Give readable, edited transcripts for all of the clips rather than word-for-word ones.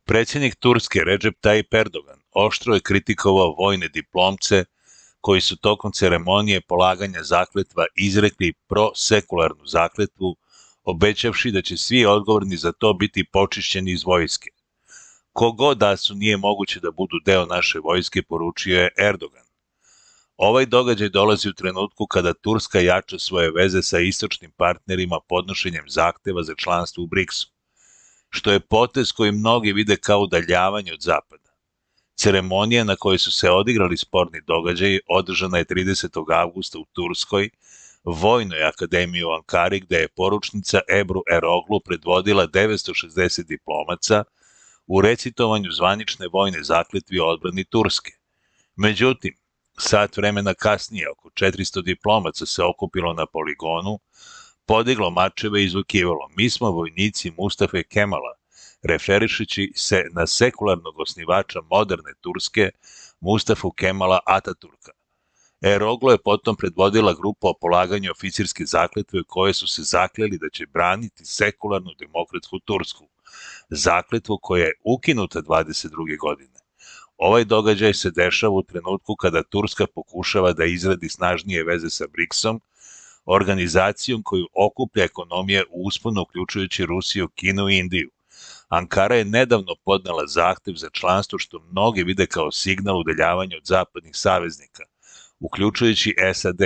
Predsjednik Turske Recep Tayyip Erdogan oštro je kritikovao vojne diplomce koji su tokom ceremonije polaganja zakletva izrekli prosekularnu zakletvu, obećavši da će svi odgovorni za to biti počišćeni iz vojske. Ko god da su, nije moguće da budu deo naše vojske, poručio je Erdogan. Ovaj događaj dolazi u trenutku kada Turska jača svoje veze sa istočnim partnerima podnošenjem zahteva za članstvo u BRICS-u, što je potez koji mnogi vide kao udaljavanje od Zapada. Ceremonija na kojoj su se odigrali sporni događaji održana je 30. avgusta u Turskoj, Vojnoj akademiji u Ankari, gde je poručnica Ebru Eroglu predvodila 960 diplomaca u recitovanju zvanične vojne zakletve o odbrani Turske. Međutim, sat vremena kasnije oko 400 diplomaca se okupilo na poligonu, podiglo mačeve i izvikivalo: "Mi smo vojnici Mustafe Kemala", referišući se na sekularnog osnivača moderne Turske, Mustafu Kemala Ataturka. Eroglu je potom predvodila grupu o polaganju oficirske zakletve u kojoj su se zakleli da će braniti sekularnu demokratsku Tursku, zakletvu koja je ukinuta 22. godine. Ovaj događaj se dešava u trenutku kada Turska pokušava da izradi snažnije veze sa BRICS-om, organizacijom koju okuplja ekonomije u usponu uključujući Rusiju, Kinu i Indiju. Ankara je nedavno podnela zahtev za članstvo, što mnogi vide kao signal udaljavanja od zapadnih saveznika, uključujući SAD.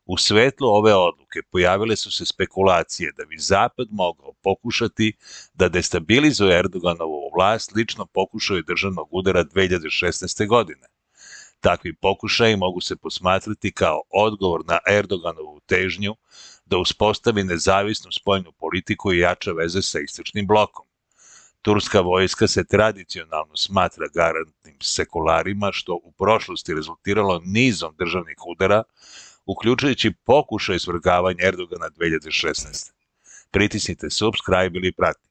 U svetlu ove odluke pojavile su se spekulacije da bi Zapad mogao pokušati da destabilizuje Erdoganovu vlast, slično pokušaju državnog udara 2016. godine. Takvi pokušaji mogu se posmatrati kao odgovor na Erdoganovu težnju da uspostavi nezavisnu spoljnu politiku i jača veze sa istočnim blokom. Turska vojska se tradicionalno smatra garantnim sekularima, što u prošlosti rezultiralo nizom državnih udara, uključujući pokušaj svrgavanja Erdogana 2016. Pritisnite subscribe ili pratite.